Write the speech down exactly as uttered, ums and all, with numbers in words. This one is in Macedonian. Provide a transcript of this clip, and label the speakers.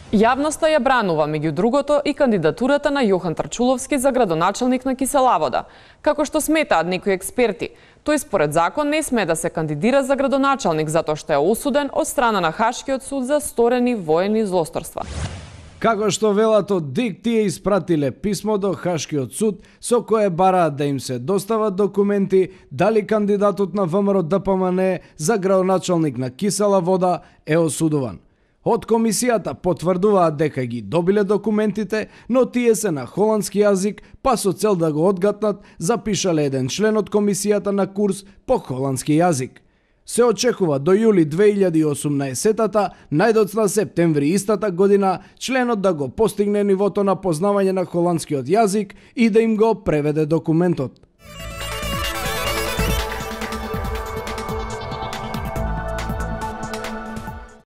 Speaker 1: Јавноста ја бранува, меѓу другото, и кандидатурата на Јохан Трчуловски за градоначалник на Киселавода. Како што сметаат некои експерти, тој според закон не сме да се кандидира за градоначалник затоа што е осуден од страна на Хашкиот суд за сторени воени злосторства.
Speaker 2: Како што велат од ДИК, тие испратиле писмо до Хашкиот суд со кое бараат да им се достават документи дали кандидатот на ВМРО Д П М Н за градоначалник на Кисела Вода е осудуван. Од комисијата потврдуваат дека ги добиле документите, но тие се на холандски јазик, па со цел да го одгатнат, запишале еден член од комисијата на курс по холандски јазик. Се очекува до јули две илјади и осумнаесетта, најдоцна септември истата година, членот да го постигне нивото на познавање на холандскиот јазик и да им го преведе документот.